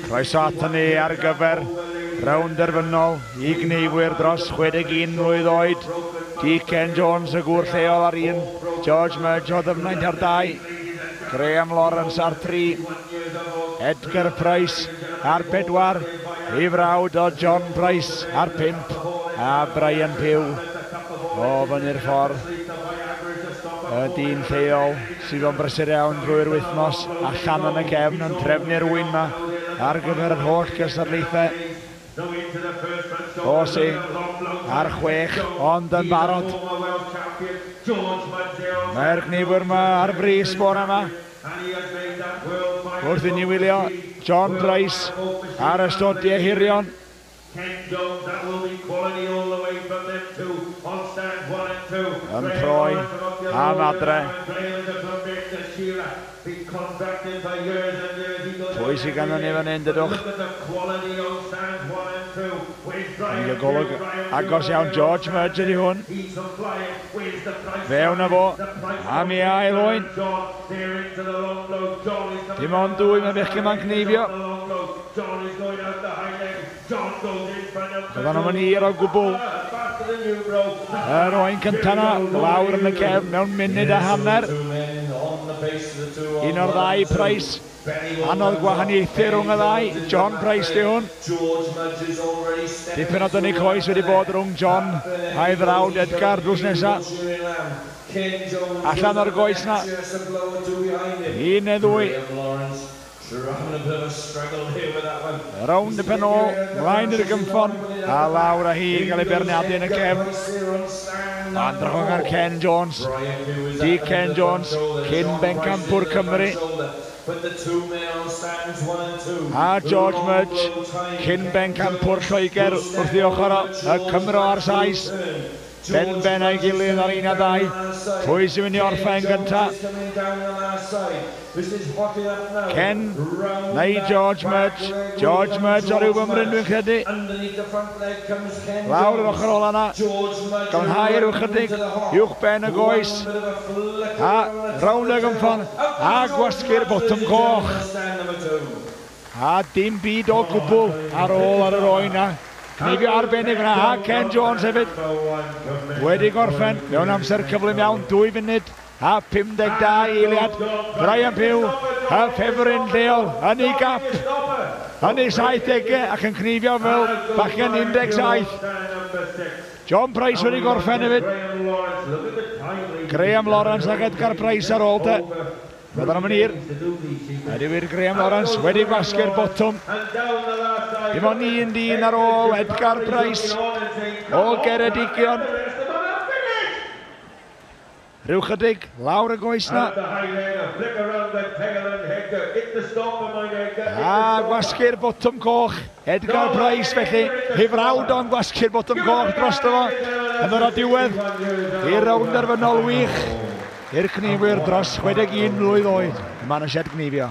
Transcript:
Croeso aton ni ar gyfer rownd derfynol i gneifwyr dros 61 mlwydd oed. Di Ken Jones, y gŵr lleol ar 1, George Mudge o Ddyfnaint ar 2, Graham Lawrence ar 3, Edgar Price ar 4, ei frawd o John Price ar 5, a Brian Pugh o fyny'r ffordd. Y dyn lleol sydd o'n brysur iawn drwy'r wythnos allan yn y cefn yn trefnu'r wyn yma ar gyfer yr holl gystadlaethau. Osi ar 6, ond yn barod. Mae'r gneifwyr yma ar frys bore yma. Wrth i ni wylio John Price ar y stodiau hirion. Yn troi am adre. Pwy sydd ganddo ni fan hyn, dydwch? Ni'n cael golwg agos iawn. George Mudge ydy hwn. Fewn â fo am ei ail oen. Dim ond 2 mae bechgyn ma'n cneifio. Byddan nhw'n hir o gwbl. Yr oen cyntaf yna, lawr yn y cefn mewn munud a hanner. Un o'r ddau Price. Anodd gwahaniaethu rhwng y ddau. John Price di hwn. Dipyn o dynnu coes wedi bod rhwng John a'i frawd Edgar drws nesaf. Allan o'r goes na. 1 neu 2. Rownd y pen ôl, mlaen i'r gynffon, a lawr â hi i gael ei beirniadu yn y cefn. Andrchog ar Ken Jones. Di Ken Jones, cyn bencampwr Cymru. A George Mudge, cyn bencampwr Lloegr wrth ei ochr o, y Cymro a'r Sais. Ben ben a'i gilydd ar 1 a 2. Pwy sy'n mynd i orffen gynta? Ken neu George Mudge? George Mudge ar ryw fymryn dwi'n credu. Lawr yr ochr ola yna. Glanhau rhyw chydig uwch ben y goes. A rownd y gynffon. A gwasgu'r botwm coch. A dim byd o gwbl ar ôl ar yr oen na. Cneifio arbennig yna, a Ken Jones hefyd wedi gorffen mewn amser cyflym iawn, 2 funud a 52 eiliad. Brian Pugh, y ffefryn lleol, yn ei gap, yn ei 70au ac yn cneifio fel bachgen 17. John Price wedi gorffen hefyd. Graham Lawrence ac Edgar Price ar ôl te. Byddan nhw'n hir. Ydy wir Graham Lawrence wedi gwasgu'r botwm. Dim ond un dyn ar ôl Edgar Price o Geredigion. Rhyw chydig lawr y goes na. A gwasgu'r botwm coch. Edgar Price felly. Ei frawd o'n gwasgu'r botwm coch drosto fo. Yn ddod o diwedd i'r rownd derfynol wych. I'r cneifwyr dros 61 mlwydd oed yma yn y sied gneifio.